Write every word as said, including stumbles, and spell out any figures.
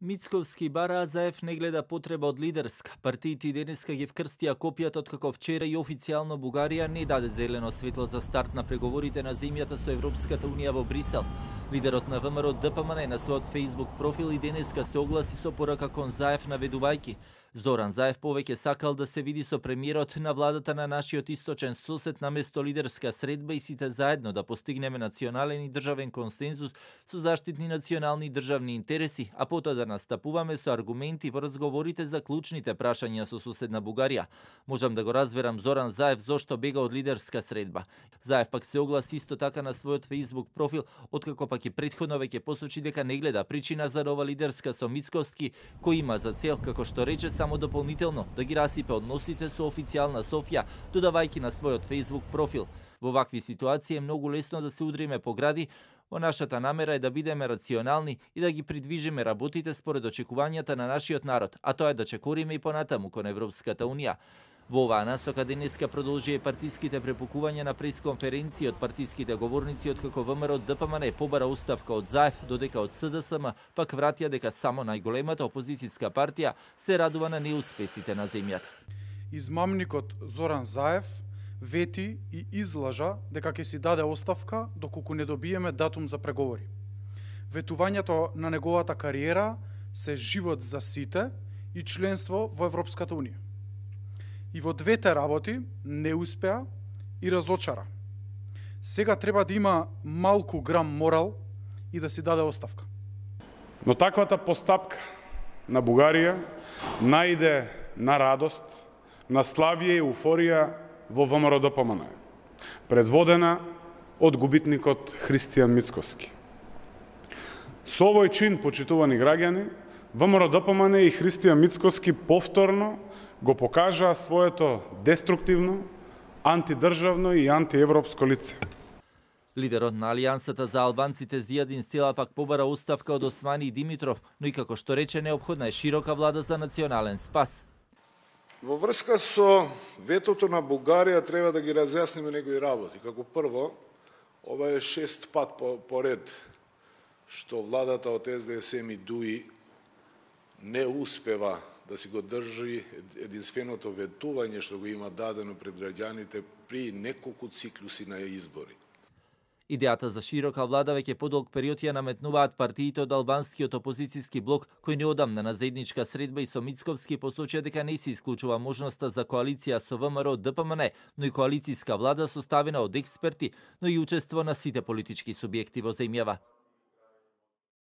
Мицковски бара Заев не гледа потреба од лидерска. Партиите денеска ги вкрстија копијата откако вчера и официјално Бугарија не даде зелено светло за старт на преговорите на земјата со Европската унија во Брисел. Лидерот на ВМРО ДПМН на својот Facebook профил и денеска се огласи со порака кон Заев наведувајќи: Зоран Заев повеќе сакал да се види со премиерот на владата на нашиот источен сосед наместо лидерска средба и сите заедно да постигнеме национален и државен консензус со заштитни национални и државни интереси, а потоа да настапуваме со аргументи во разговорите за клучните прашања со соседна Бугарија. Можам да го разберам Зоран Заев зошто бега од лидерска средба. Заев пак се огласи исто така на својот Facebook профил, откако пак и претходно веќе посочи дека не гледа причина за нова лидерска со Мицковски, кој има за цел, како што рече, само дополнително да ги расипе односите со официјална Софија, додавајќи на својот Facebook профил: во вакви ситуации е многу лесно да се удриме по гради, во нашата намера е да бидеме рационални и да ги придвижиме работите според очекувањата на нашиот народ, а тоа е да чекориме и понатаму кон Европската унија. Во оваа насока денеска продолжија партиските препукувања на пресконференција од партиските говорници, откако ВМРО ДПМН побара оставка од Заев, додека од СДСМ пак вратија дека само најголемата опозицијска партија се радува на неуспесите на земјата. Измамникот Зоран Заев вети и излажа дека ќе си даде оставка доколку не добиеме датум за преговори. Ветувањето на неговата кариера се живот за сите и членство во Европската унија. И во двете работи не успеа и разочара. Сега треба да има малку грам морал и да си даде оставка. Но таквата постапка на Бугарија најде на радост, на славие и еуфорија во ВМРО ДПМН, предводена од губитникот Христијан Мицковски. Со овој чин, почитувани граѓани, ВМРО ДПМН и Христијан Мицковски повторно го покажаа своето деструктивно, антидржавно и антиевропско лице. Лидерот на Алијансата за албанците Зијадин Села пак побара оставка од Османи Димитров, но и како што рече, неопходна е широка влада за национален спас. Во врска со ветото на Бугарија треба да ги разјасниме некои работи. Како прво, ова е шест пат по, поред што владата од СДСМ и ДУИ не успева да си го држи единственото ветување што го има дадено пред граѓаните при неколку циклуси на избори. Идејата за широка влада веќе подолг период ја наметнуваат партиите од албанскиот опозицијски блок, кој неодамна на заедничка средба и со Мицковски посочија дека не се исклучува можноста за коалиција со ВМРО ДПМН, но и коалицијска влада составена од експерти, но и учество на сите политички субјекти во земјава.